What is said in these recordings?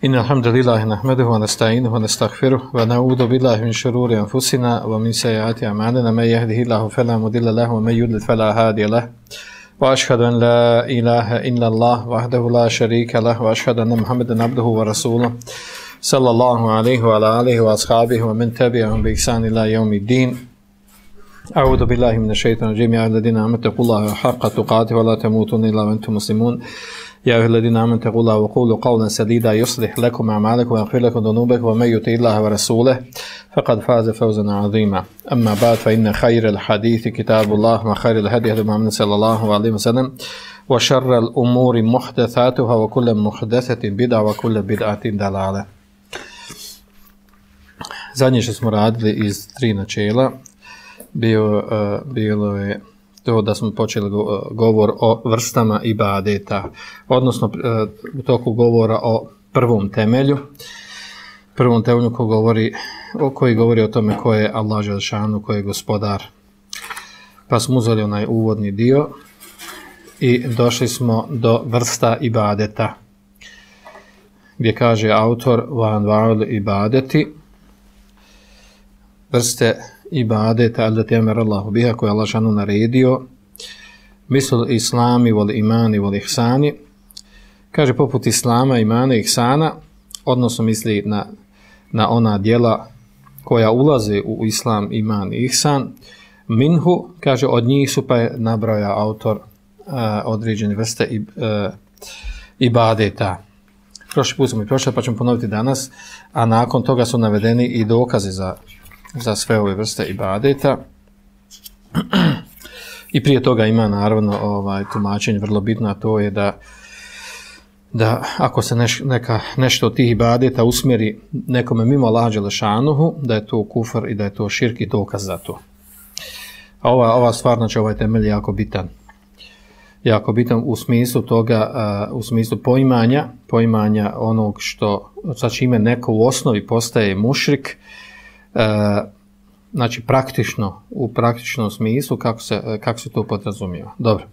إن الحمد لله نحمده ونستعينه ونستغفره ونعوذ بالله من شرور أنفسنا ومن سيئات أعمالنا من يهده الله فلا مضل له ومن يضلل فلا هادي له وأشهد أن لا إله إلا الله وحده لا شريك له وأشهد أن محمدا عبده ورسوله صلى الله عليه وعلى آله وأصحابه ومن تبعهم بإحسان إلى يوم الدين. أعوذ بالله من الشيطان الرجيم. يا أيها الذين آمنوا اتقوا الله حق تقاته ولا تموتن إلا وأنتم مسلمون. يا أيها الذين آمنوا اتقوا الله وقولوا قولا سديدا يصلح لكم أعمالكم ويغفر لكم ذنوبكم ومن يطع الله ورسوله فقد فاز فوزا عظيما. أما بعد فإن خير الحديث كتاب الله وخير الهدي هدي محمد صلى الله عليه وسلم وشر الأمور محدثاتها وكل محدثة بدعة وكل بدعة ضلالة. Zadnje što smo radili iz 3 načela bilo je to da smo počeli govor o vrstama ibadeta, odnosno u toku govora o prvom temelju koji govori o tome ko je Allah dželešanu, ko je gospodar. Pa smo uzeli onaj uvodni dio i došli smo do vrsta ibadeta, gdje kaže autor wa anwa'ul ibadeti, vrste ibadeta allati amara Allahu biha, koje Allah dželešanu naredio, misl islami wal imani wal ihsani, kaže poput islama, imana i ihsana, odnosno misli na ona djela koja ulaze u islam, iman i ihsan. Minhu, kaže od njih su, pa je nabraja autor određene vrste ibadeta. Prošli put smo i prošli, pa ćemo ponoviti danas, a nakon toga su navedeni i dokaze za sve ove vrste ibadeta. I prije toga ima naravno tumačenje vrlo bitno, a to je da ako se nešto od tih ibadeta usmjeri nekome mimo Allaha dželešanuhu, da je to kufr i da je to širk i dokaz za to. A ova stvar, znači ovaj temelj je jako bitan u smislu toga, u smislu poimanja onog što, sa čime neko u osnovi postaje mušrik, znači u praktičnom smislu kako se to podrazumijeva. Dobro.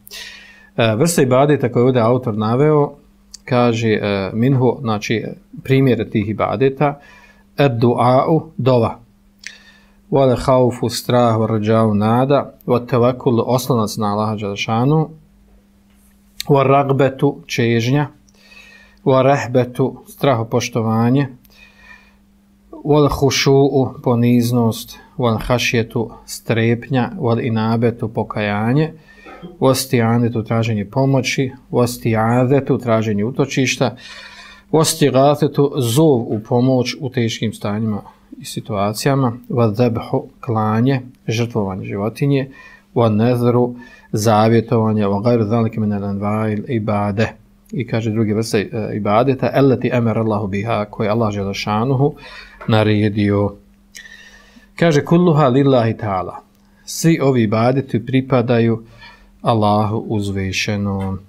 Vrsta ibadeta koje je ovdje autor naveo, kaže minhu, znači primjere tih ibadeta, ad-du'a'u, dova, wal khawfu, strah, wal raja'u, nada, wat tawakkul, oslonac na Allaha dželešanu, wal ragbetu, čežnja, wal rahbetu, strahopoštovanje, wal khushu'u, poniznost, wal khashjetu, strepnja, wal inabetu, pokajanje, wasti'anetu, traženje pomoći, wasti'adetu, traženje utočišta, wasti'gatetu, zov u pomoć u teškim stanjima i situacijama, wadhabhu, klanje, žrtvovanje životinje, wan-nadhru, zavjetovanje, wa ghayru zalika min al-anwa'il ibade. I kaže druge vrste ibadeta, allati amara Allahu biha, koje Allah dželešanuhu naredio. Kaže kulluha lillahi ta'ala, svi ovi ibadeti pripadaju Allahu uzvišenom.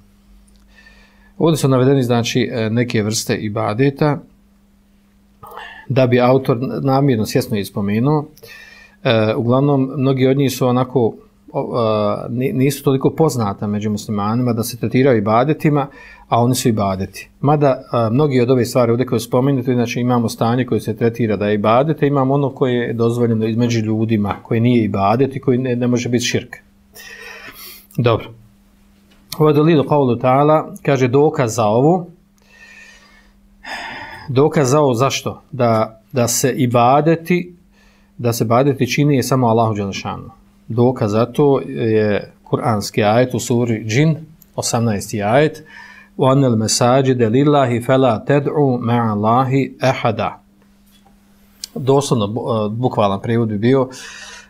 Ovdje su navedeni znači neke vrste ibadeta, da bi autor namjerno svjesno ispomenuo. Uglavnom mnogi od njih su onako nisu toliko poznata među muslimanima da se tretiraju ibadetima, a oni su ibadeti. Mada mnogi od ove stvari ovdje koje spomenuti, znači imamo stanje koje se tretira da je ibadete, imamo ono koje je dozvoljeno između ljudima, koje nije ibadet i koji ne može biti širk. Dobro. Ovo je dalilu qawlu ta'ala, kaže dokaz za ovo. Dokaz za ovo zašto? Da se ibadeti čini je samo Allahu dželešanu. Dokaz za to je kuranski ajet u suri Džin, 18. ajet. وَأَنَّ الْمَسَاجِدَ لِلَّهِ فَلَا تَدْعُوا مَعَ اللَّهِ أَحَدًا. Doslovno, bukvalan prijevod bi bio,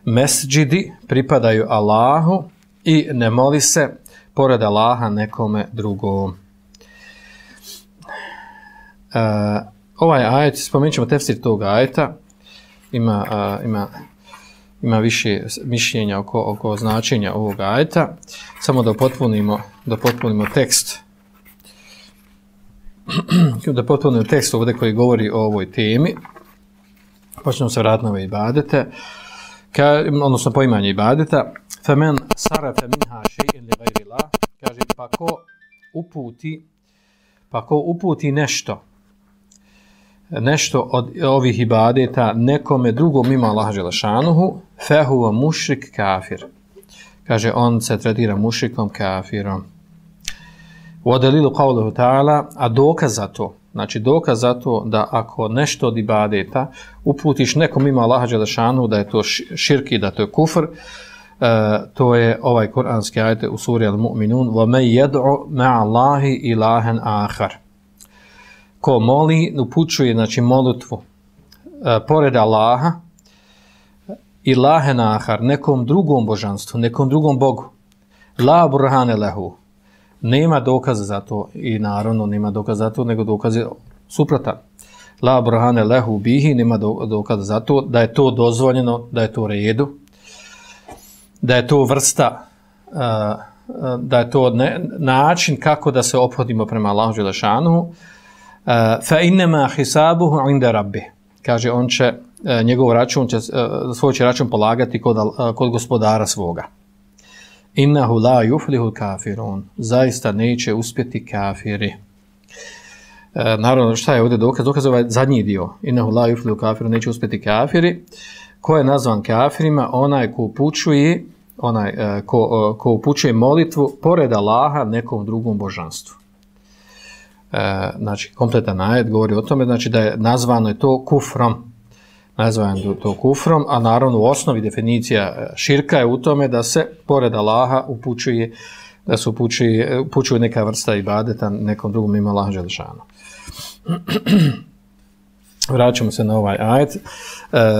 mesdžidi pripadaju Allahu i ne moli se pored Allaha nekome drugom. Ovaj ajet, spomenut ćemo tefsir tog ajeta, ima više mišljenja oko značenja ovog ajeta. Samo da potpunimo tekst. Da potpunimo tekst ovdje koji govori o ovoj temi. Počnemo se vratiti na ove ibadete. Odnosno poimanje ibadeta. فَمَنْ صَرَفَ مِنْهَا شَيْءٍ لِغَيْرِ اللَّهِ. Kaže, pa ko uputi nešto nešto od ovih ibadeta nekome drugom mimo Allaha dželešanuhu, fehuva mušrik kafir. Kaže, on se tretira mušrikom kafirom. U odelilu qavluhu ta'ala, a dokaz za to, znači dokaz za to da ako nešto od ibadeta uputiš nekom mimo Allaha dželešanuhu, da je to širki, da to je kufr, to je ovaj kuranski ajet u suri Al-Mu'minun, وَمَنْ يَدْعُ مَعَ اللَّهِ إِلَهًا آخَرَ. Ko moli, upućuje, znači molitvu pored Allaha, ilahen ahar, nekom drugom božanstvu, nekom drugom Bogu. La burhane lehu. Nema dokaza za to i naravno nema dokaza za to, nego dokaz je suprotan. La burhane lehu bihi, nema dokaza za to da je to dozvoljeno, da je to redu, da je to vrsta, da je to način kako da se ophodimo prema Allahu dželešanuhu. Fa innama hisabuhu inda rabbi. Kaže, on će njegov račun će svoj će račun polagati kod gospodara svoga. Innahu la yuflihu kafirun. Zaista neće uspjeti kafiri. Naravno, šta je ovdje dokaz? Dokaz ovaj zadnji dio. Innahu la yuflihu kafirun, neće uspjeti kafiri. Ko je nazvan kafirima? Onaj ko upućuje, ko upućuje molitvu pored Allaha nekom drugom božanstvu. Znači, kompletan ajet govori o tome, znači da je nazvano je to kufrom. Nazvano je to kufrom, a naravno u osnovi definicija širka je u tome da se pored Allaha upućuje, da se upućuje neka vrsta ibadeta nekom drugom mimo Allaha dželešanu. Vraćamo se na ovaj ajet.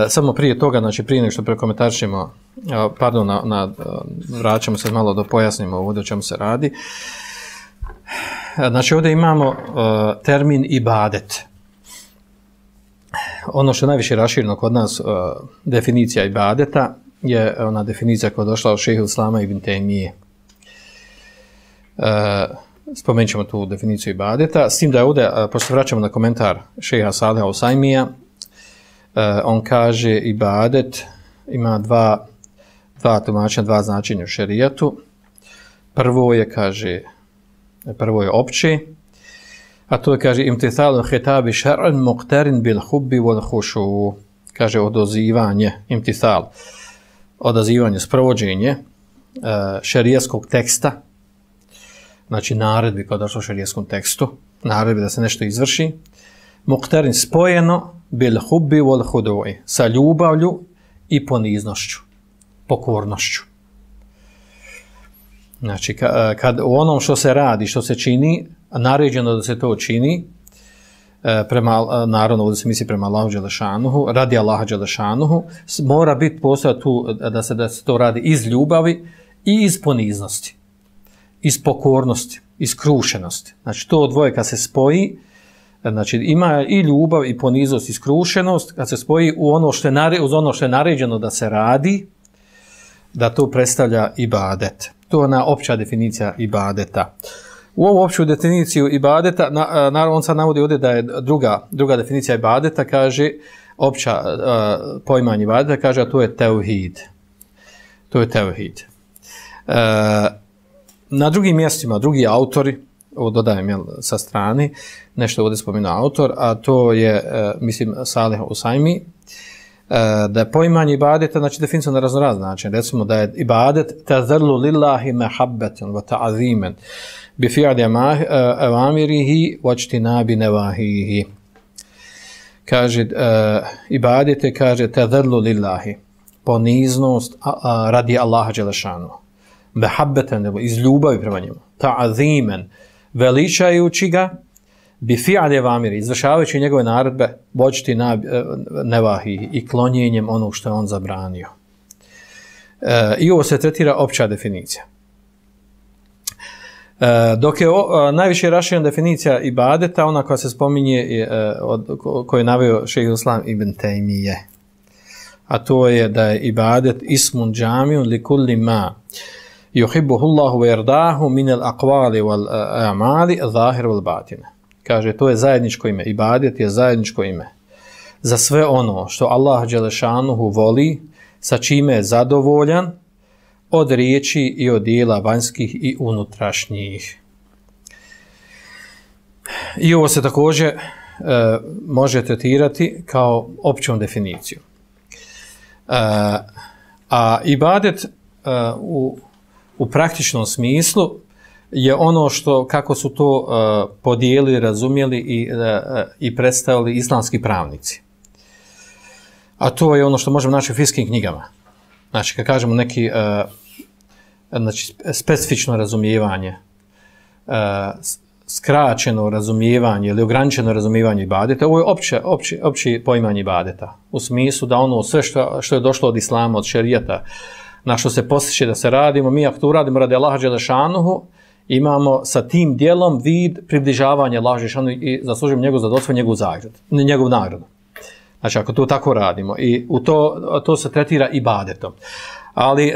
Samo prije toga, znači prije nego što prekomentarišemo, pardon, vraćamo se malo da pojasnimo ovdje o čemu se radi. Znači ovdje imamo termin ibadet. Ono što je najviše rašireno kod nas definicija ibadeta je ona definicija koja je došla od šejha Islama ibn Tejmije. Spomenut ćemo tu definiciju ibadeta. S tim da je ovdje, pošto vraćamo na komentar šejha Saliha Usajmija, on kaže ibadet ima dva tumačenja, dva značenja u šerijatu. Prvo je opće, a to je, kaže, imtithalu hitabi šar'an muqtarin bil hubbi wal khushu. Kaže, odazivanje, sprovođenje šerijskog teksta, znači naredbi kao došlo u šerijskom tekstu, naredbi da se nešto izvrši, muqtarin spojeno bil hubbi wal khudu'i, sa ljubavlju i poniznošću, pokornošću. Znači, kad u onom što se radi, što se čini, naređeno da se to čini, naravno ovdje se misli prema Allahu dželešanuhu, radi Allaha dželešanuhu, mora biti postojati tu da se to radi iz ljubavi i iz poniznosti, iz pokornosti, iz skrušenosti. Znači, to dvoje kad se spoji, znači ima i ljubav i poniznost i skrušenost, kad se spoji uz ono što je naređeno da se radi, da to predstavlja ibadet. To je ona opća definicija ibadeta. U ovu opću definiciju ibadeta, naravno on sad navodi ovdje da je druga definicija ibadeta, kaže, opća poimanje ibadeta, kaže, a to je tevhid. To je tevhid. Na drugim mjestima, drugi autori, ovo dodajem sa strane, nešto ovdje spominu autor, a to je, mislim, Salih Usajmi, da je poimanje ibadeta, znači definicija na raznorazan način. Recimo da je ibadet tazarlu lillahi mehabbetan wa ta'azimen bi fi'ali avamirihi wa ijtinabi nevahihi. Kaže, ibadete, kaže, tazarlu lillahi, poniznost radi Allaha dželešanu, mehabbetan, iz ljubavi prema njemu, ta'azimen, veličajući ga, bi fi'ali avamiri, izvršavajući njegove naredbe, voćti nevahi i klonjenjem onog što je on zabranio. I ovo se tretira opća definicija. Dok je najviše raširena definicija ibadeta, ona koja se spominje, koju je naveo šejh Islam ibn Tejmije. A to je da je ibadet ismun džamijun li kulli ma yuhibbuhu Allahu wa yardahu min al-aqwali wal a'mali zahir wal batin. Kaže, to je zajedničko ime. Ibadet je zajedničko ime za sve ono što Allah dželešanuhu voli, sa čime je zadovoljan, od riječi i od dijela vanjskih i unutrašnjih. I ovo se također može tretirati kao općom definicijom. A ibadet u praktičnom smislu je ono što, kako su to podijelili, razumjeli i predstavili islamski pravnici. A to je ono što možemo naći u fiqhskim knjigama. Znači, kad kažemo neki znači, specifično razumijevanje, skraćeno razumijevanje ili ograničeno razumijevanje ibadeta, ovo je opće poimanje ibadeta. U smislu da ono sve što je došlo od islama, od šerijata, na što se postiče da se radimo, mi ako to uradimo radi Allaha dželešanuhu, imamo sa tim dijelom vid približavanja Allaha dželešanuhu i zaslužujemo njegov zadovoljstvo, njegov nagradu. Znači, ako to tako radimo i u to se tretira ibadetom. Ali,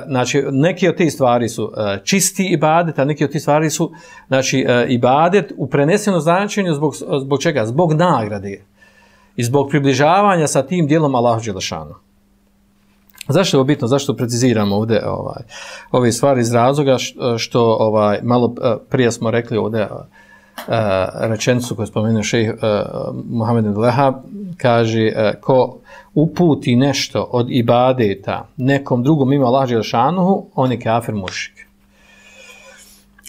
znači, neki od tih stvari su čisti ibadet, a neki od tih stvari su, znači, ibadet u prenesenom značenju zbog čega? Zbog nagrade i zbog približavanja sa tim dijelom Allahu dželešanu. Zašto je ovo bitno? Zašto preciziramo ovdje ove stvari iz razloga što malo prije smo rekli ovdje rečenicu koju spomenuo šejh Muhammed ibn Wahhab, kaže ko uputi nešto od ibadeta nekom drugom mimo Allaha dželešanuhu, on je kafir mušrik.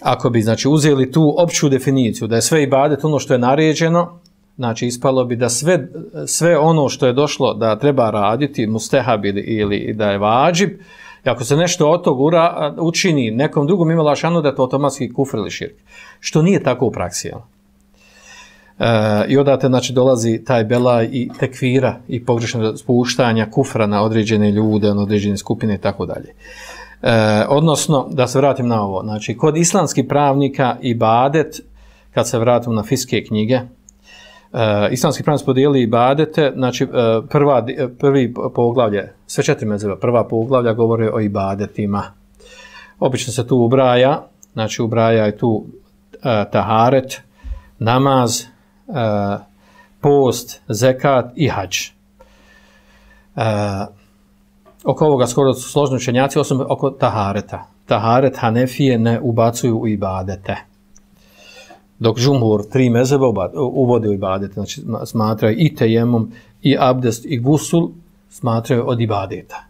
Ako bi znači uzeli tu opću definiciju da je sve ibadet ono što je naređeno, znači ispalo bi da sve ono što je došlo da treba raditi mustehab ili da je vađib, i ako se nešto od tog učini nekom drugom mimo Allaha dželešanuhu, da je to automatski kufr ili širk. Što nije tako u praksi. I odate znači, dolazi taj belaj i tekvira i pogrešno spuštanja kufra na određene ljude, na određene skupine i tako dalje. Odnosno, da se vratim na ovo, znači kod islamskih pravnika ibadet, kad se vratim na fiqhske knjige, islamski pravnici podijeli ibadete, znači prvi poglavlje, sve 4 mezheba, prva poglavlja govore o ibadetima. Obično se tu ubraja, znači ubraja je tu taharet, namaz, post, zekat i hadž. Oko ovoga skoro su složni učenjaci, osim oko tahareta. Taharet Hanefije ne ubacuju u ibadete. Dok džumhur 3 mezheba uvode u ibadete, znači smatraju i tejemum, i abdest, i gusul, smatraju od ibadeta.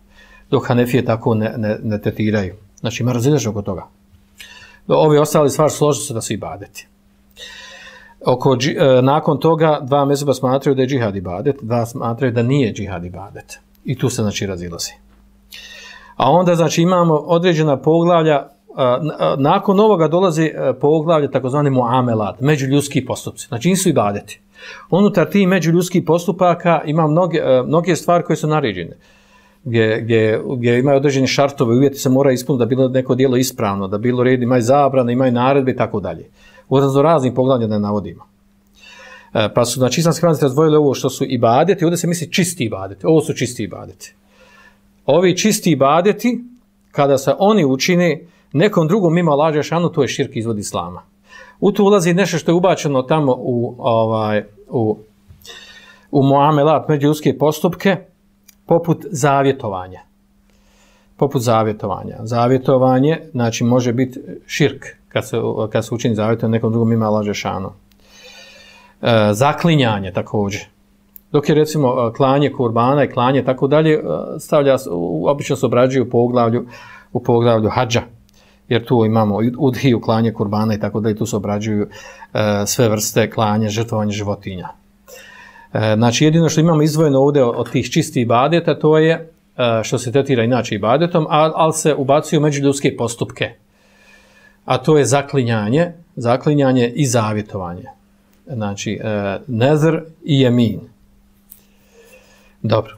Dok Hanefije tako ne tretiraju. Znači ima razilaženje oko toga. Ovi ostali stvari složili se da su ibadeti. Nakon toga 2 mezheba smatraju da je džihad ibadet, 2 smatraju da nije džihad ibadet. I tu se znači razilazi. A onda znači imamo određena poglavlja, nakon ovoga dolazi poglavlje takozvani muamelat, međuljudski postupci. Znači nisu ibadeti. Unutar tih međuljudskih postupaka ima mnoge stvari koje su naređene. Gdje imaju određeni šartove, uvjeti se mora ispuniti da bilo neko djelo ispravno, da bilo red, imaju zabrane, imaju naredbe i tako dalje. U raznih poglavlja ne navodimo. Pa su znači islamski pravnici razdvojili ovo što su ibadeti, ovdje se misli čisti ibadeti. Ovo su čisti ibadeti. Ovi čisti ibadeti, kada se oni učine nekom drugom mimo Allaha dželešanu, to je širk izvod islama. U to ulazi nešto što je ubačeno tamo u muamelat, međuljudske postupke, poput zavjetovanja. Zavjetovanje, znači, može biti širk kad se učini zavjetovanje nekom drugom mimo Allaha dželešanu. Zaklinjanje također. Dok je recimo klanje kurbana i klanje tako dalje, obično se obrađuju u poglavlju hadža. Jer tu imamo udhiju, klanje kurbana i tako dalje, tu se obrađuju sve vrste klanje, žrtvovanje životinja. Znači jedino što imamo izdvojeno ovdje od tih čistih ibadeta, to je što se tretira inače ibadetom, ali se ubacuju međuljudske postupke. A to je zaklinjanje i zavjetovanje. Znači, nezr i jemin. Dobro.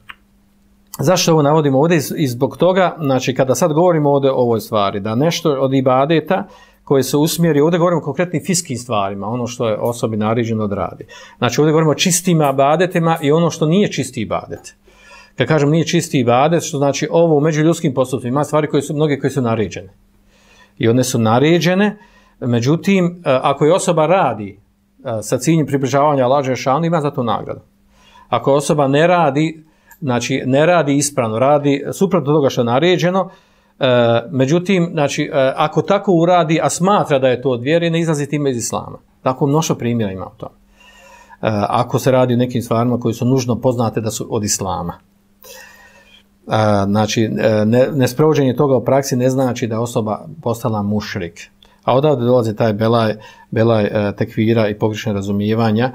Zašto ovo navodimo ovdje? I zbog toga, znači, kada sad govorimo ovdje o ovoj stvari, da nešto od ibadeta koje se usmjeri, ovdje govorimo o konkretnim fiqhskim stvarima, ono što je osobi naređeno da radi. Znači, ovdje govorimo o čistim ibadetima i ono što nije čisti ibadet. Kad kažem nije čisti ibadet, što znači ovo u međuljudskim postupcima, ima stvari mnoge koje su naređene. I one su naređene, međutim, ako je osoba radi sa ciljem približavanja Allaha dželešanu, ima za to nagradu. Ako osoba ne radi, znači ne radi ispravno, radi suprotno toga što je naređeno, međutim, znači, ako tako uradi, a smatra da je to od vjere, ne izlazi time iz islama. Tako mnoštvo primjera ima u tom. ako se radi o nekim stvarima koji su nužno poznate da su od islama. Znači, nesprovođenje toga u praksi ne znači da osoba postala mušrik. A odavde dolazi taj belaj tekvira i pogrešne razumijevanja,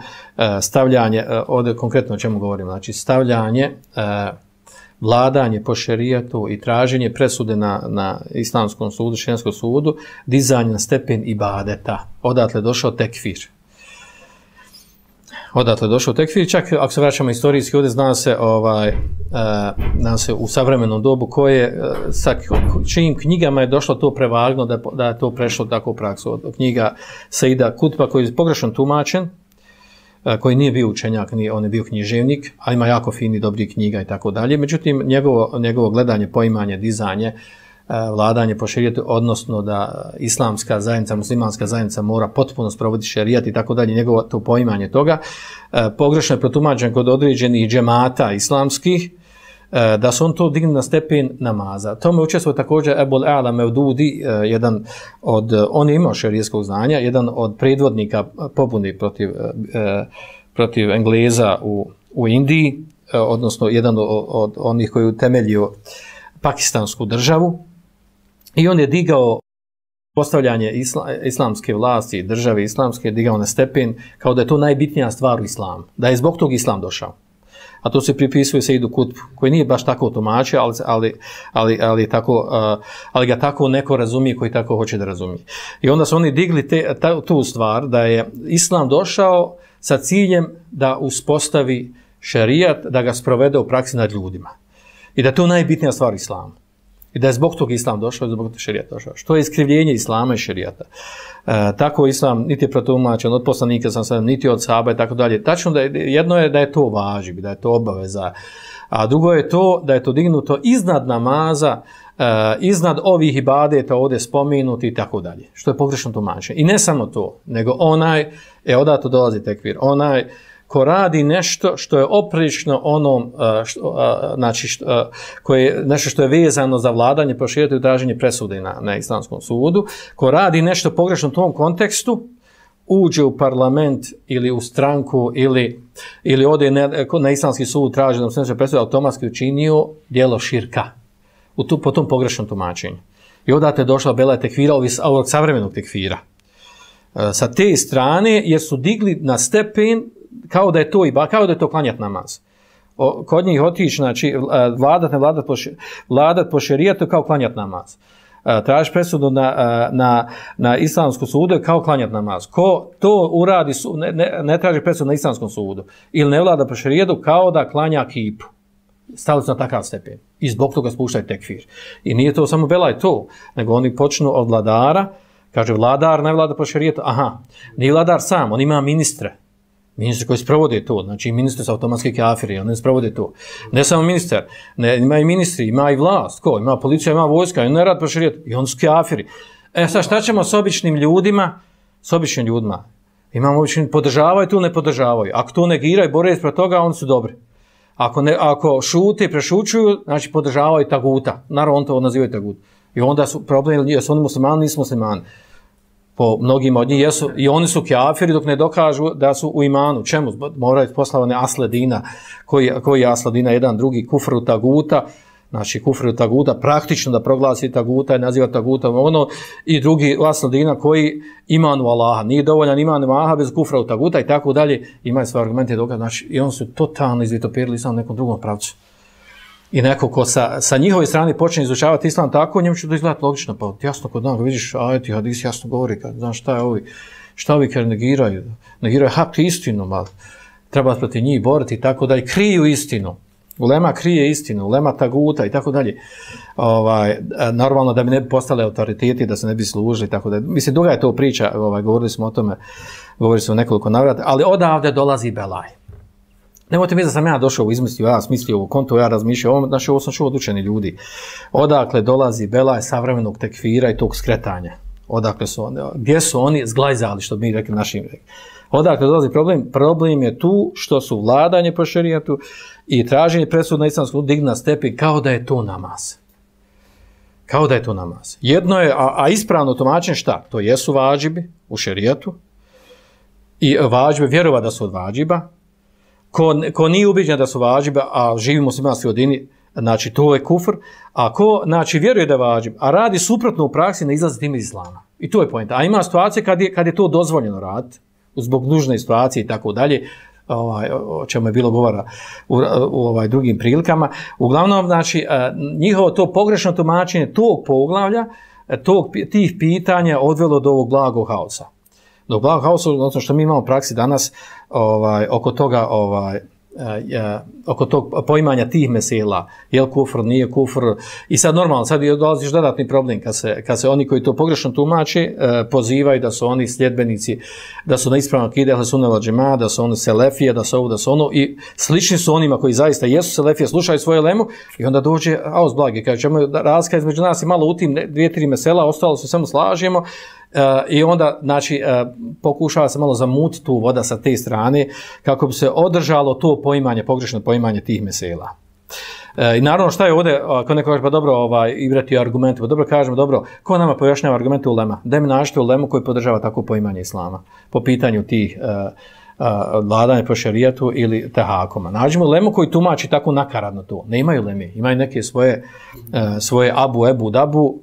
stavljanje, ovdje konkretno o čemu govorimo, znači stavljanje, vladanje po šerijatu i traženje presude na islamskom sudu, šerijskom sudu, dizanje na stepen ibadeta. Odatle došao tekfir. Odatle došao tekfir, čak ako se vraćamo istorijski, ovdje zna se u savremenom dobu koje, sa čijim knjigama je došlo to prevagno da je to prešlo tako u praksu. Od knjiga Seida Kutba koji je pogrešno tumačen, koji nije bio učenjak, on je bio književnik, a ima jako fini, dobri knjiga i tako dalje. Međutim, njegovo gledanje, poimanje, dizanje, vladanje po šerijatu, odnosno da islamska zajednica, muslimanska zajednica mora potpuno sprovoditi šerijat i tako dalje, njegovo to poimanje toga, pogrešno je protumačen kod određenih džemata islamskih, da su on to digli na stepen namaza. Tome učestvuje također Ebul A'la Mevdudi, jedan od, on je imao šerijskog znanja, jedan od predvodnika pobune protiv Engleza u Indiji, odnosno jedan od onih koji je utemeljio pakistansku državu, i on je digao postavljanje islamske vlasti, države islamske, digao na stepen kao da je to najbitnija stvar u islamu, da je zbog tog islam došao. A to se pripisuje Seidu Kutbu, koji nije baš tako tumačio, ali ga tako neko razumije koji tako hoće da razumije. I onda su oni digli tu stvar da je islam došao sa ciljem da uspostavi šerijat, da ga sprovede u praksi nad ljudima. I da je to najbitnija stvar u islamu. I da je zbog tog islam došao i zbog tog šerijat došao. Što je iskrivljenje islama i šerijata. Tako islam niti je protumačen od poslanika, niti od sahaba i tako dalje. Tačno jedno je da je to važib, da je to obaveza. A drugo je to da je to dignuto iznad namaza, iznad ovih ibadeta ovdje spomenuti i tako dalje. Što je pogrešno tumačenje. I ne samo to, nego odato dolazi tekvir, onaj ko radi nešto što je oprično onom, nešto što je vezano za vladanje, po šerijatu i traženje presude na islamskom sudu, ko radi nešto pogrešno u tom kontekstu, uđe u parlament ili u stranku ili ode na islamski sud, traži da mu se presude, automatski učinio djelo širka po tom pogrešnom tumačenju. I odate je došla bela tekvira, ovog savremenog tekvira. Sa te strane, jer su digli na stepen kao da je to klanjat namaz. Kod njih otići, znači, vladat po šerijatu kao klanjat namaz. Tražiš presudu na islamskom sudu kao klanjat namaz. Ko to uradi, ne traži presudu na islamskom sudu ili ne vlada po šerijatu kao da klanja kipu. Stavili su na takav stepen. I zbog toga spuštaju tekfir. I nije to samo belaj to, nego oni počnu od vladara, kaže vladar ne vlada po šerijatu, nije vladar sam, on ima ministre. Ministri koji sprovode to, znači ministri su automatski kafiri, oni sprovode to. Ne samo ministar, ima i ministri, ima i vlast, ko? Ima policija, ima vojska, oni ne rad po šerijatu, i oni su kafiri. Sad šta ćemo s običnim ljudima? S običnim ljudima. Imamo obični, podržavaju tu, ne podržavaju. Ako to negiraju, bore ispred toga, oni su dobri. Ako šute i prešučuju, znači podržavaju taguta. Naravno, on to nazivaju tagut. I onda su problemi, jesu oni muslimani, nisu muslimani. Po mnogima od njih jesu, i oni su kafiri dok ne dokažu da su u imanu. Čemu? Moraju poslavane asledina, koji je asledina, jedan drugi kufru taguta, znači kufru taguta, praktično da proglasi taguta i naziva taguta i drugi asledina koji imanu Allaha. Nije dovoljan iman Allaha bez kufra taguta i tako dalje. Imaju svoje argumente dokaze, znači i oni su totalno izvitoperili islam u nekom drugom pravcu. I neko ko sa njihove strane počne izučavati islam tako, njemu će to izgledati logično, pa jasno kod nas vidiš, ajeti hadis jasno govori, znaš šta ovi kad negiraju hak i istinu, ali treba protiv njih boriti i tako dalje, kriju istinu, ulema krije istinu, ulema taguta i tako dalje, normalno da bi ne bi postale autoriteti, da se ne bi služili i tako dalje. Mislim, duga je to priča, govorili smo o tome, govorili smo nekoliko navrata, ali odavde dolazi belaj. Nemojte mi da sam ja došao, izmislio, ja smislio ovo konto, ja razmišljao, ovo sam čuo od učeni ljudi. Odakle dolazi belaj savremenog tekfira i tog skretanja? Odakle su oni? Gdje su oni zglajzali, što bi mi rekli našim rekli? Odakle dolazi problem? Problem je tu što su vladanje po šerijatu i traženje presuda na islamskom digli na stepen kao da je to namaz. Kao da je to namaz. Jedno je, a ispravno tumačenje šta? To jesu vađibi u šerijatu, i vađibe, vjerova da su od vađiba, ko nije ubiđen da su vađiba, a živi muslimanski odini, znači to je kufr, a ko znači, vjeruje da je vađib, a radi suprotno u praksi, ne izlazi tim iz islama. I to je poenta. A ima situacije kad je to dozvoljeno raditi, zbog nužne situacije i tako dalje, o čemu je bilo govora u drugim prilikama. Uglavnom, znači, njihovo to pogrešno tumačenje tog poglavlja, tih pitanja odvelo do ovog blagog haosa. Do blagog haosa, odnosno što mi imamo u praksi danas oko toga, oko tog poimanja tih mesela, je li kufr, nije kufr, i sad normalno, sad dolaziš dodatni problem kad se oni koji to pogrešno tumače pozivaju da su oni sljedbenici, da su na ispravnom akide ahle sunne vel džemaa, da su oni selefije, da su ovo, da su ono, i slični su onima koji zaista jesu selefije, slušaju svoje lemu, i onda dođe aos blagi, kaže čemu razlika između nas i malo u tim 2-3 mesela, ostalo se samo slažemo, i onda znači pokušava se malo zamutiti tu voda sa te strane kako bi se održalo to poimanje, pogrešno poimanje tih mesela. I naravno šta je ovdje, ako neko kaže pa dobro igrati argumente, pa dobro kažemo, dobro, ko nama pojašnjava argumente ulema? Daj mi nađite ulemu koji podržava tako poimanje islama po pitanju tih vladanja po šerijatu ili tehakoma. Nađemo ulemu koji tumači tako nakaradno to. Ne imaju uleme, imaju neke svoje abu, dabu,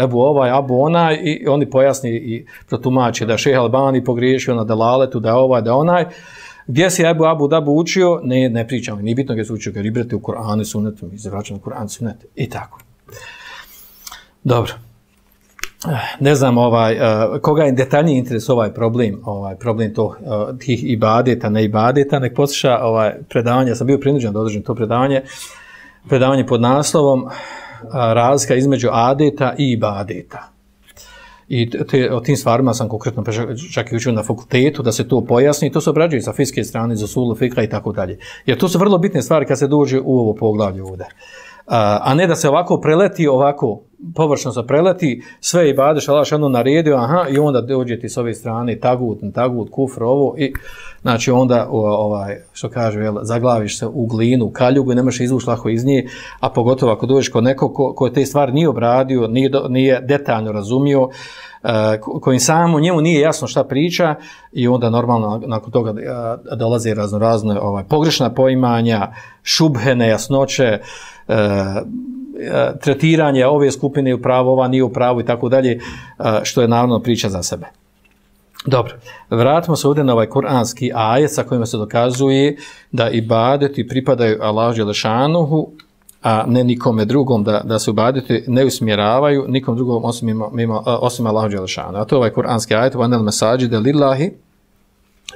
Ebu ovaj, Abu onaj, i oni pojasni i protumače da je Šejh Albani pogriješio na delaletu, da je ovaj, da je onaj. Gdje si Abu Dabu učio? Ne pričamo, nije bitno gdje se učio, jer ibrate u Kur'anu i Sunnetu, mi se vraćamo u Kur'an i Sunnet i tako. Dobro. Ne znam koga je detaljniji interes ovaj problem tih ibadeta, ne ibadeta, nek posluša predavanje, ja sam bio prinuđen da održim to predavanje pod naslovom razlika između adeta i ibadeta. I o tim stvarima sam konkretno čak i učio na fakultetu da se to pojasni i to se obrađuje sa fiqhske strane, za usulu fiqha i tako dalje. Jer to su vrlo bitne stvari kad se dođe u ovo poglavlje ovdje. A ne da se ovako preleti, ovako površno se preleti, sve ibadeš, Allah šano naredio, aha, i onda dođe ti s ove strane tagut, kufr, ovo, i znači onda, što kaže, zaglaviš se u glinu, u kaljugu i ne možeš izvući lako iz nje, a pogotovo ako dođeš kod nekog ko te stvari nije obradio, nije detaljno razumio, kojim samo njemu nije jasno šta priča, i onda normalno nakon toga dolaze razne pogrešna poimanja, šubhe, nejasnoće, tretiranje ove skupine u pravu, ova nije u pravu i tako dalje, što je naravno priča za sebe. Dobro, vratimo se ovdje na ovaj kuranski ajet sa kojima se dokazuje da ibadeti pripadaju Allahu dželešanuhu, a ne nikome drugom, da se ibadeti ne usmjeravaju nikom drugom osim Allahu dželešanuhu. A to je ovaj kuranski ajet, wa anal masajide lillahi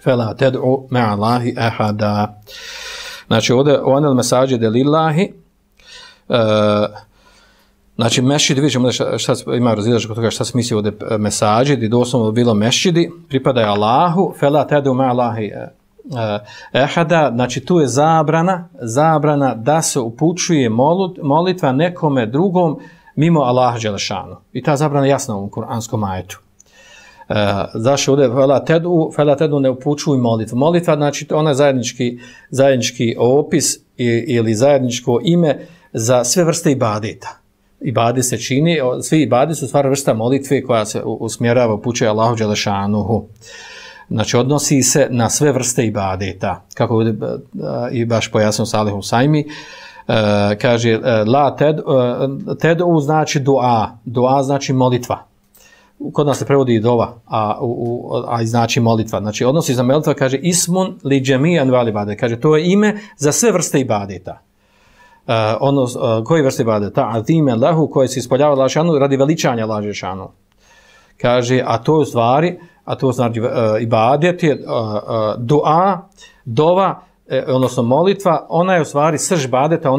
fela ted'u ma'a Allahi ahada. Znači ovdje wa anal masajide lillahi, znači mešćidi, vidimo šta ima razilaženje kod toga šta se misli ovdje mesađidi, doslovno bilo mešćidi, pripadaju Allahu, fela tedu ma Allahi ehada, znači tu je zabrana da se upućuje molitva nekome drugom mimo Allaha dželešanu. I ta zabrana je jasna u ovom kuranskom ajetu. Zašto ovdje fela tedu ne upućuj molitvu. Molitva, znači ona je zajednički opis ili zajedničko ime za sve vrste ibadeta. Ibadet se čini, svi ibadeti su stvar vrsta molitve koja se usmjerava, upućuje Allahu dželešanuhu. Znači odnosi se na sve vrste ibadeta. Kako ovdje i baš pojasnio Salih Husajmi, kaže la tedu znači dua znači molitva. Kod nas se prevodi dova, a znači molitva. Znači odnosi za molitva, kaže ismun li džemijan val ibadet. Kaže to je ime za sve vrste ibadeta. Koji vrste ibadeta? Azime lahu, koje se ispoljava lašanu radi veličanja lašanu. Kaže, a to znači ibadet je dova, odnosno molitva, ona je u stvari srž ibadeta,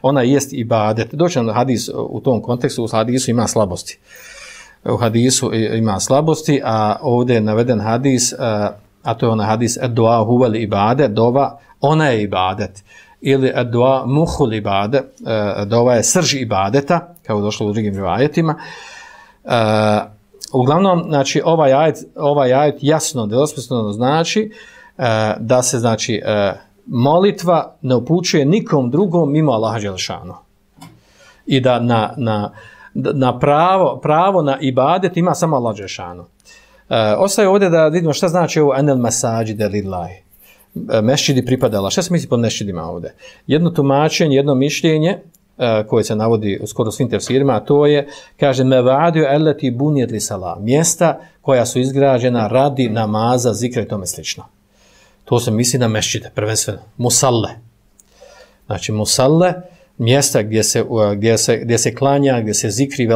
ona jest ibadet. Doći na hadis u tom kontekstu, u hadisu ima slabosti. U hadisu ima slabosti, a ovdje je naveden hadis, a to je onaj hadis dua huvel ibadet, dova, ona je ibadet. Ili dua muhul ibadet, dova je srž ibadeta, kao je došlo u drugim rivajetima. Uglavnom, znači, ovaj ajet jasno, nedvosmisleno znači da se, znači, molitva ne upućuje nikom drugom mimo Allaha dželešanu. I da na pravo na ibadet ima samo Allah dželešanu. Ostaje ovdje da vidimo šta znači ovo enel masajide lillahi. Mešćidi pripadala. Šta se misli pod mešćidima ovdje? Jedno tumačenje, jedno mišljenje koje se navodi u skoro svim tefsirima, a to je, kaže, mevadiju eleti bunijed li salam. Mjesta koja su izgrađena radi namaza, zikra i tome slično. To se misli na mešćide, prvenstveno. Musalle. Znači, musalle, mjesta gdje se klanja, gdje se zikri,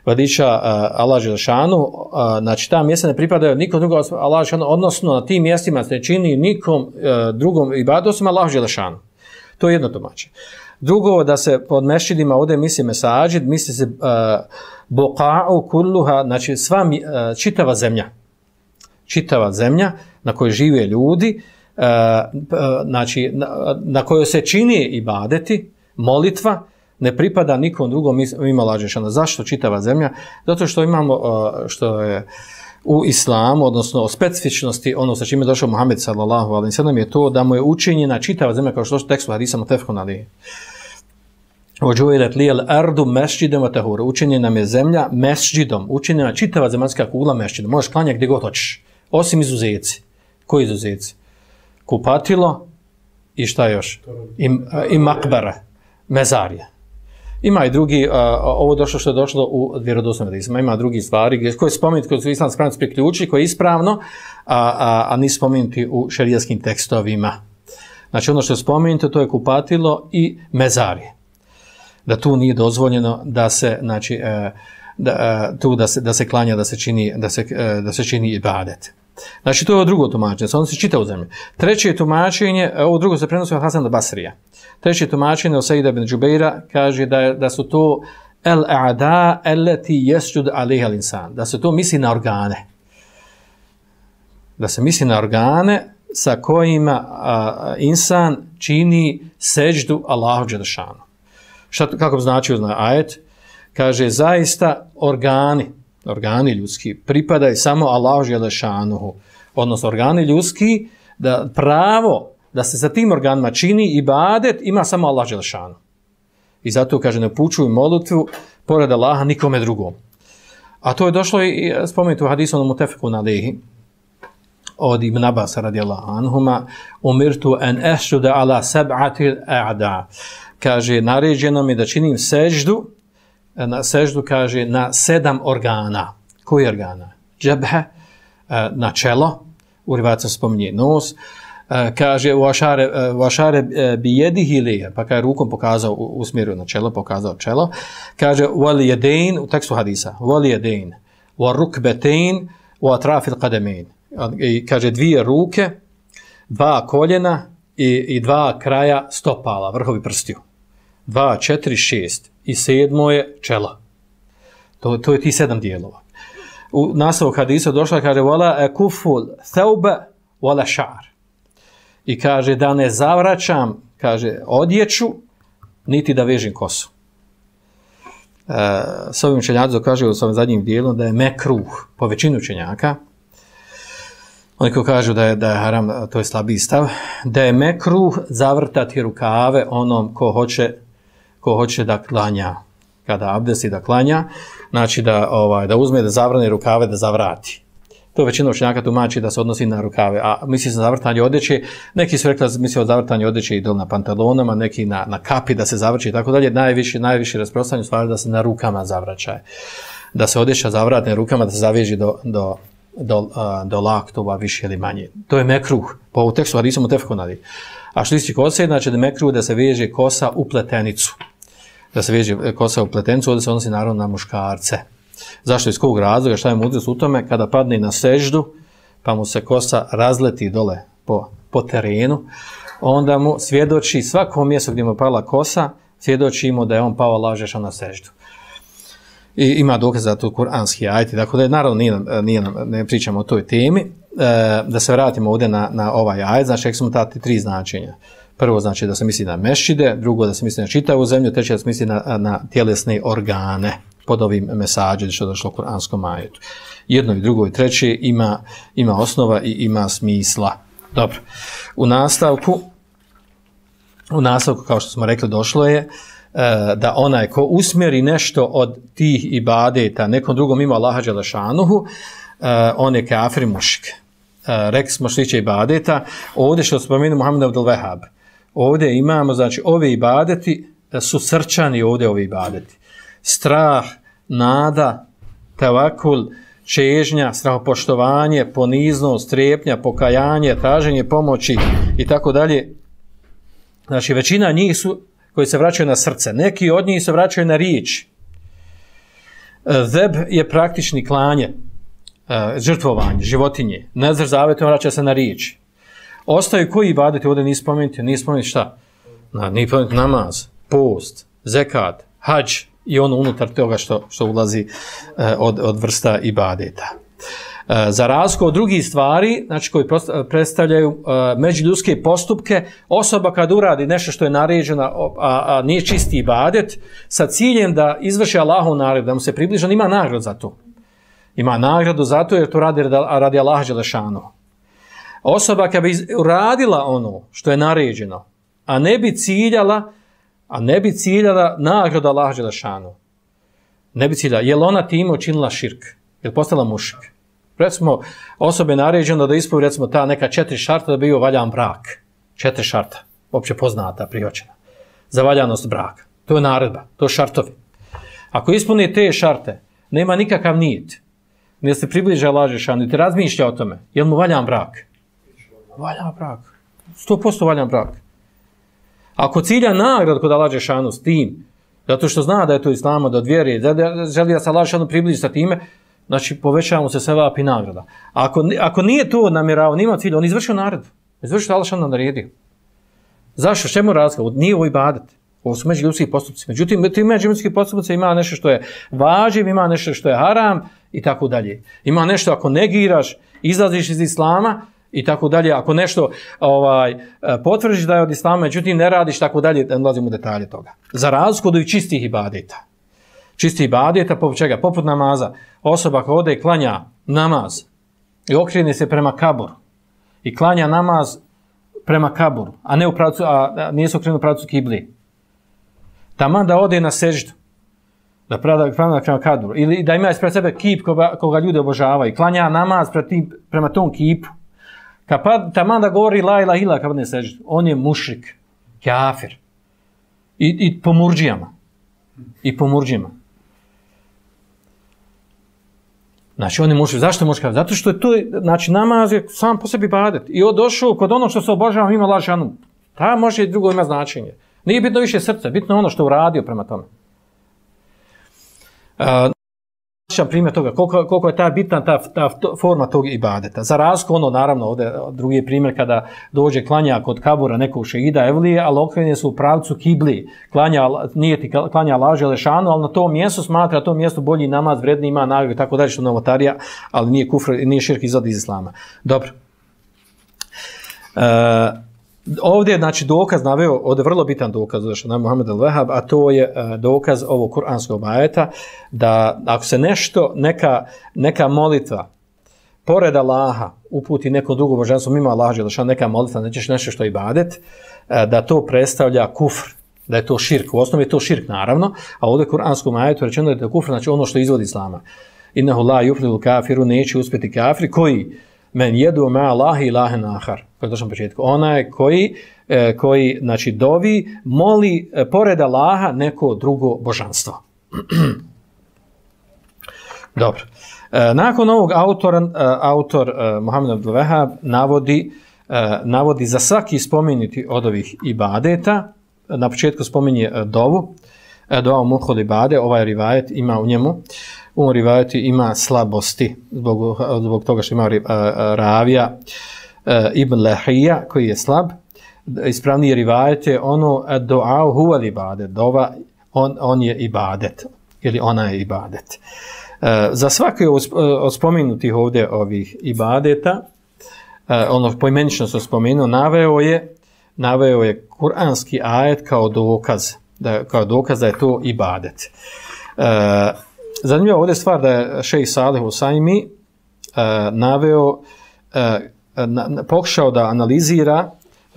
veliča Allah Želešanu, znači ta mjesta ne pripadaju nikom drugom Allah Želešanu, odnosno na tim mjestima se ne čini nikom drugom ibadu osim Allah Želešanu. To je jedno tumačenje. Drugo, da se pod mešćidima ovdje misli mesađid, misli se boka'u kulluha, znači čitava zemlja na kojoj žive ljudi, znači na kojoj se čini ibadeti, molitva, ne pripada nikom drugom ima Allah Želešanu. Zašto čitava zemlja? Zato što imamo, što je u islamu, odnosno o specifičnosti, ono sa čime je došao Muhammed sallallahu alejhi ve sellem, je to da mu je učinjena čitava zemlja, kao što je tekstu hadisa mutefekun alejhi. Ođuilet lijel ardu mesđidom wa tahura. Učinjena nam je zemlja mesđidom, učinjena čitava zemaljska kugla mesđidom. Možeš klanjati gdje god hoćeš, osim izuzeci. Koji izuzeci? Kupatilo i šta još? I makbara, mezarije. Ima i drugi, ovo došlo što je došlo u vjerodostojnim hadisima, ima drugi stvari koje spomenuti, koje su islamski pravnici priključili, koje je ispravno, a nisu spomenuti u šerijskim tekstovima. Znači ono što je spomenuto, to je kupatilo i mezarije. Da tu nije dozvoljeno da se, znači, da se klanja, da se čini ibadet. Znači to je drugo tumačenje, se odnosi čitavu zemlju. Treće tumačenje, ovo drugo se prenosi od Hasan al-Basrija. Treće tumačenje od Sejida ibn Džubeira kaže da su to el-a'da allati yasjud alejha al-insan, da se to misli na organe. Da se misli na organe sa kojima insan čini seđdu Allahu dželešanu. Kako bi značio ajet? Kaže, zaista organi ljudski pripadaju samo Allahu dželešanuhu, odnosno organi ljudski, da pravo da se sa tim organima čini ibadet ima samo Allah dželešanu. I zato kaže, ne upućuju molitvu pored Allaha nikome drugom. A to je došlo i spomenuto u hadisu od mutefekun alejhi od Ibn Abbas radijallahu anhuma, umirtu an asjuda ala sab'ati a'da. Kaže, naređeno mi da činim seždu, kaže, na 7 organa. Koji organa? Džebhe, na čelo, u rivacima spominje nos, kaže, vašare bi jedihi lije, pa kaže, rukom pokazao, usmjerio na čelo, pokazao čelo, kaže, vali jedein, u tekstu hadisa, vali jedein, wa rukbetein, wa atrafil qademein. Kaže, 2 ruke, 2 koljena i 2 kraja stopala, vrhovi prstiju. 2, 4, 6 i 7 je čelo. To je ti 7 dijelova. U nastavu hadisa došla, kaže, wala akuful thawba wala sha'r. I kaže, da ne zavraćam, kaže, odjeću, niti da vežim kosu. S ovim učenjaci kaže u svom zadnjim dijelom da je mekruh, po većinu učenjaka, oni koji kažu da je haram, to je slabiji stav, da je mekruh zavrtati rukave onom ko hoće da klanja, kada abdesti da klanja, znači da uzme da zavrne rukave, da zavrati. To većina učenjaka tumači da se odnosi na rukave, a misli se na zavrtanje odjeće, neki su rekli da misli o zavrtanje odjeće i dol na pantalonama, neki na kapi da se zavrće i tako dalje, najviše rasprostranjeno stvari da se na rukama zavraćaje. Da se odjeća zavrati na rukama, da se zaveži do laktova više ili manje. To je mekruh, po ovu tekstu hadisu mutefekun alejhi. A što isti kose, znači da mekruh da se veže kosa u pletenicu. Da se veže kosa u pletenicu, ovdje se odnosi naravno na muškarce. Zašto? Iz kog razloga? Šta je mudrost u tome? Kada padne na seždu, pa mu se kosa razleti dole po terenu, onda mu svjedoči svako mjesto gdje mu pala kosa, svjedoči mu da je on pao Allah dželešanu na seždu. I ima dokaz za to kuranski ajet, tako da naravno ne pričamo o toj temi. Da se vratimo ovdje na ovaj ajet, znači rekli smo ta 3 značenja. Prvo znači da se misli na mešćide, drugo da se misli na čitavu zemlju, treće da se misli na tjelesne organe pod ovim mesađe što je došlo u kuranskom ajetu. Jedno i drugo i treće ima osnova i ima smisla. Dobro. U nastavku, kao što smo rekli, došlo je da onaj ko usmjeri nešto od tih ibadeta nekom drugom ima Allaha dželešanuhu, on je kafir mušik. Rekli smo što tiče ibadeta, ovdje što spomenu Muhammed Abdul Wahhab, ovdje imamo, znači, ove ibadeti su srčani ovdje ovi ibadeti. Strah, nada, tevakul, čežnja, strahopoštovanje, poniznost, strepnja, pokajanje, traženje pomoći i tako dalje. Znači, većina njih su koji se vraćaju na srce. Neki od njih se vraćaju na riječ. Zeb je praktični klanje, žrtvovanje, životinje. Nezr zavetom vraća se na riječ. Ostaju koji ibadeti ovdje nisu spomenuti šta? Nije spomenuti namaz, post, zekat, hadž i ono unutar toga što ulazi od vrsta ibadeta. Za razliku od drugih stvari, znači koji predstavljaju međuljudske postupke, osoba kad uradi nešto što je naređeno, a nije čisti ibadet, sa ciljem da izvrši Allahov naredbu, da mu se približi, on ima nagradu za to. Ima nagradu za to jer to radi Allaha dželešanu. Osoba kad bi uradila ono što je naređeno, a ne bi ciljala nagradu Allaha dželešanu. Ne bi ciljala, je li ona time učinila širk? Je li postala mušik? Recimo, osobe je naređeno da ispovi, recimo, ta neka 4 šarta da bi bio valjan brak. 4 šarta, opće poznata, prihvaćena. Za valjanost braka. To je naredba, to je šartovi. Ako ispuni te šarte, nema nikakav nijet. Ne se približa Allahu dželešanu, niti razmišlja o tome. Je li mu valjan brak? Valjan brak. 100% valjan brak. Ako cilja nagrad kod Allahu dželešanu s tim, zato što zna da je to islama, da vjeruje, da želi da se Allahu dželešanu približi sa time, znači povećavamo se sevap i nagrada. Ako nije to namjerao, nima cilja, on izvršio naredbu. Izvršio što Allah dželešanu naredio. Zašto? Čemu razlika? Nije ovo ibadet. Ovo su međuljudski postupci. Međutim, ti međuljudski postupci ima nešto što je važiv, ima nešto što je haram i tako dalje. Ima nešto ako negiraš, izlaziš iz islama i tako dalje. Ako nešto potvrdiš da je od islama, međutim ne radiš tako dalje, da ulazimo u detalje toga. Za razliku od čistih ibadeta. Čistih ibadeta, poput čega? Poput namaza. Osoba koja ode i klanja namaz i okrene se prema kaburu i klanja namaz prema kaburu, a ne u pravcu, nije se okrenuo u pravcu kibli. Taman da ode na seždu, da prava prema kaburu, ili da ima ispred sebe kip koga ljudi obožavaju i klanja namaz prema tom kipu. Taman da govori la ilaha illa kad ne seždu, on je mušrik, kafir. I po murdžijama. I po murdžijama. Znači, on je mušrik. Zašto je mušrik? Zato što je to, znači, namaz je sam po sebi ibadet. I došao kod ono što se obožava ima Allahu dželešanu. Ta može i drugo ima značenje. Nije bitno više srce, bitno ono što je uradio prema tome. Primjer toga, koliko je ta bitna ta forma tog ibadeta. Za razliku ono, naravno, ovdje drugi primjer kada dođe klanja kod kabura nekog šehida evlije, ali okrenje su u pravcu kibli. Nije ti klanja Allahu dželešanu, ali na tom mjestu smatra to mjesto bolji namaz, vredni, ima nagradu i tako dalje što novotarija, ali nije kufr, nije širk izvod iz islama. Dobro. Ovdje je, znači, dokaz naveo, ovdje je vrlo bitan dokaz što nam Muhammed al-Wahhab, a to je dokaz ovog kuranskog ajeta, da ako se neka molitva pored Allaha uputi nekom drugom božanstvu mimo Allaha dželešanu, neka molitva, nećeš nešto što je ibadet, da to predstavlja kufr, da je to širk. U osnovi je to širk, naravno, a ovdje u kuranskom ajetu rečeno je da je kufr, znači ono što izvodi islama. Innehu la yuflihul kafiru, neće uspjeti kafiri, koji men jedu ma Allahi ilahen ahar. Kako došlo na početku. Ona je koji znači, dovi, moli pored Allaha neko drugo božanstvo. Dobro. Nakon ovog autor Muhammed Abdul Wahhab navodi za svaki spomenuti od ovih ibadeta. Na početku spominje dovu. Dova muhol ibade, ovaj rivajet ima u njemu. U ovom rivajetu ima slabosti zbog toga što ima ravija Ibn Lahija koji je slab. Ispravniji rivajet je ono doa huval ibadet, dova on je ibadet ili ona je ibadet. Za svaki od spomenutih ovdje ovih ibadeta, ono poimenično se spomenuo, naveo je kuranski ajet kao dokaz da je to ibadet. Zanimljiva ovdje stvar da je šejh Salih Usajmi pokušao da analizira,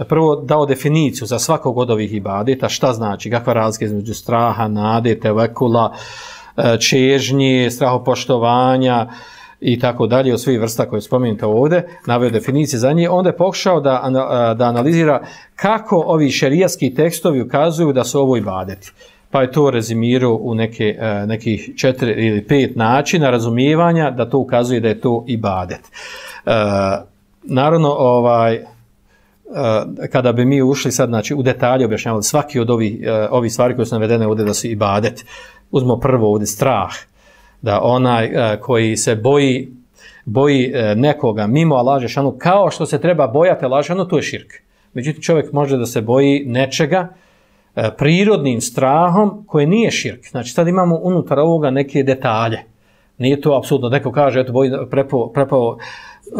prvo dao definiciju za svakog od ovih ibadeta, šta znači, kakva razlika između straha, nade, tevekula, čežnje, strahopoštovanja i tako dalje, od svih vrsta koje spomenuta ovdje, naveo definicije za nje, onda je pokušao da analizira kako ovi šerijatski tekstovi ukazuju da su ovo ibadeti. Pa je to rezimirao u nekih 4 ili 5 načina razumijevanja da to ukazuje da je to ibadet. Naravno, kada bi mi ušli sad, znači, u detalje objašnjavali svaki od ovih stvari koje su navedene ovdje da su ibadet, uzmo prvo ovdje strah, da onaj koji se boji nekoga mimo Allaha dželešanu kao što se treba bojati Allaha dželešanu, to je širk. Međutim, čovjek može da se boji nečega prirodnim strahom koje nije širk. Znači, sad imamo unutar ovoga neke detalje. Nije to apsolutno, neko kaže, eto, prepao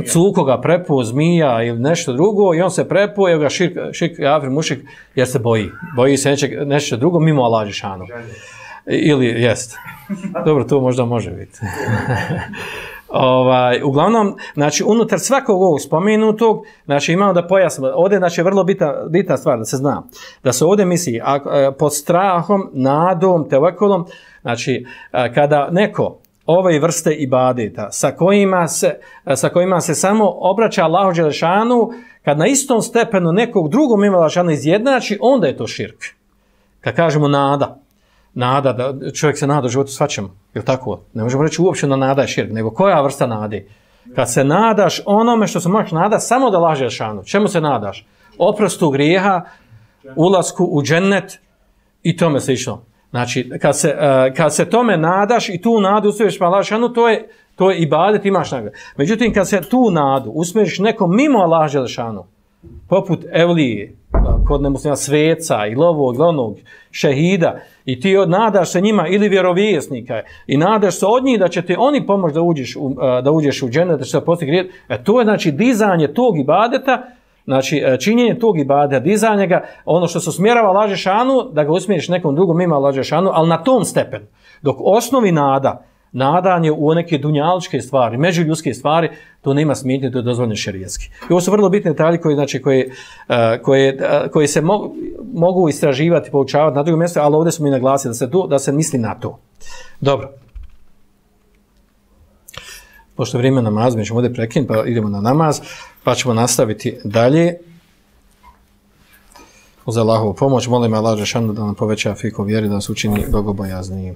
cukoga, prepao zmija ili nešto drugo i on se prepao, evo ga širk kafir mušrik jer se boji se nešto drugo mimo Allaha dželešanu. Ili jest. Dobro, to možda može biti. Uglavnom, znači, unutar svakog ovog spomenutog, znači, imamo da pojasnimo. Ovdje, znači, je vrlo bitna stvar da se zna. Da se ovdje misli pod strahom, nadom, tevekulom, znači, kada neko ove vrste ibadeta sa kojima se samo obraća Allahu dželešanu, kad na istom stepenu nekog drugog mimo Allaha dželešanu izjednači, onda je to širk. Kad kažemo nada, da čovjek se nada u životu svačemu, je li tako? Ne možemo reći uopće da nada je širk, nego koja vrsta nade? Kad se nadaš onome što se možeš nadati samo da Allaha dželešanu. Čemu se nadaš? Oprostu grijeha, ulasku u džennet i tome slično. Znači, kad se tome nadaš i tu nadu usmjeriš pa Allaha dželešanu, to je ibadet, imaš nagradu. Međutim, kad se tu nadu usmjeriš nekom mimo Allaha dželešanu, poput evlije, kod nemuslima sveca i lovog, onog šehida, i ti nadaš se njima ili vjerovjesnika i nadaš se od njih da će ti oni pomoći da uđeš u džennet, da će se postići grijet. To je, znači, dizanje tog ibadeta, znači činjenje tog ibadeta, dizanje ga, ono što se usmjerava Allaha dželešanu, da ga usmjeriš nekom drugom mimo Allaha dželešanu, ali na tom stepenu. Dok osnovi nadanje u neke dunjaličke stvari, međuljudske stvari, to nema smetnje, to je dozvoljeno šerijatski. I ovo su vrlo bitne detalje koje se mogu istraživati, poučavati na drugom mjestu, ali ovdje smo mi naglasili da se misli na to. Dobro. Pošto je vrijeme namaza, mi ćemo ovdje prekinuti, pa idemo na namaz, pa ćemo nastaviti dalje. Uz Allahovu pomoć, molim Allaha dželešanu da nam poveća fiku vjeri, da nas učini bogobojaznijim.